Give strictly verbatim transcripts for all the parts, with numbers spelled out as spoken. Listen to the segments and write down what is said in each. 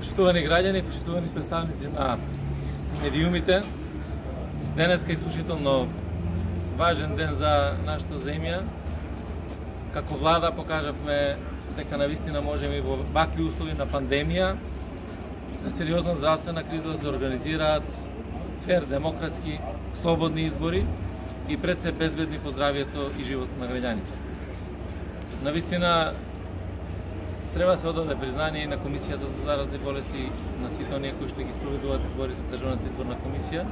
Почитувани граѓани, почитувани представници на медиумите, денеска е исклучително важен ден за нашата земја. Како влада покажавме дека навистина можеме и во вакви услови на пандемија, на сериозна здравствена криза да се организираат фер, демократски, слободни избори и пред се безбедни по здравието и животот на граѓаните. Навистина треба да се одаде признание и на Комисијата за заразни болести, на сите оние кои што ги спроведуваат изборите, Државната изборна комисија,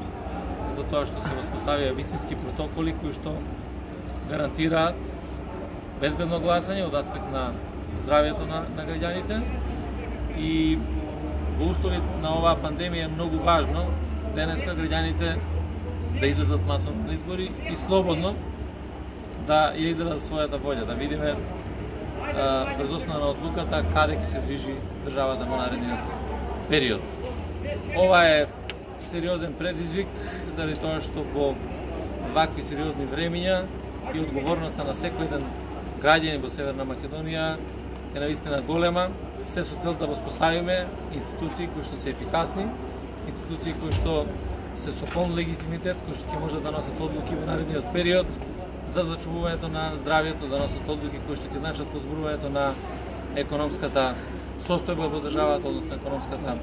за тоа што се воспоставија вистински протоколи кои што гарантираат безбедно гласање од аспект на здравието на, на граѓаните. И во услови на оваа пандемија е многу важно денеска граѓаните да излезат масовно на избори и слободно да ја изразат својата волја, да видиме врз основа на одлуката каде ќе се движи државата во наредниот период. Ова е сериозен предизвик заради тоа што во вакви сериозни времиња и одговорноста на секој еден граѓанин во Северна Македонија е навистина голема, се со цел да воспоставиме институции кои што се ефикасни, институции кои што се со полн легитимитет, кои што ќе можат да носат одлуки во наредниот период за зачувувањето на здравието, да носат одлуки кои што ќе значат подобрувањето на економската состојба во државата, односно економската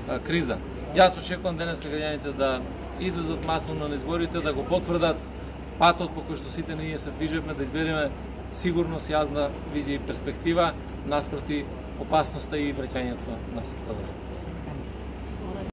а, криза. Јас очекувам денеска граѓаните да излезат масовно на изборите, да го потврдат патот по кој што сите ние се движиме, да избереме сигурност, јазна визија и перспектива наспроти опасноста и враќањето на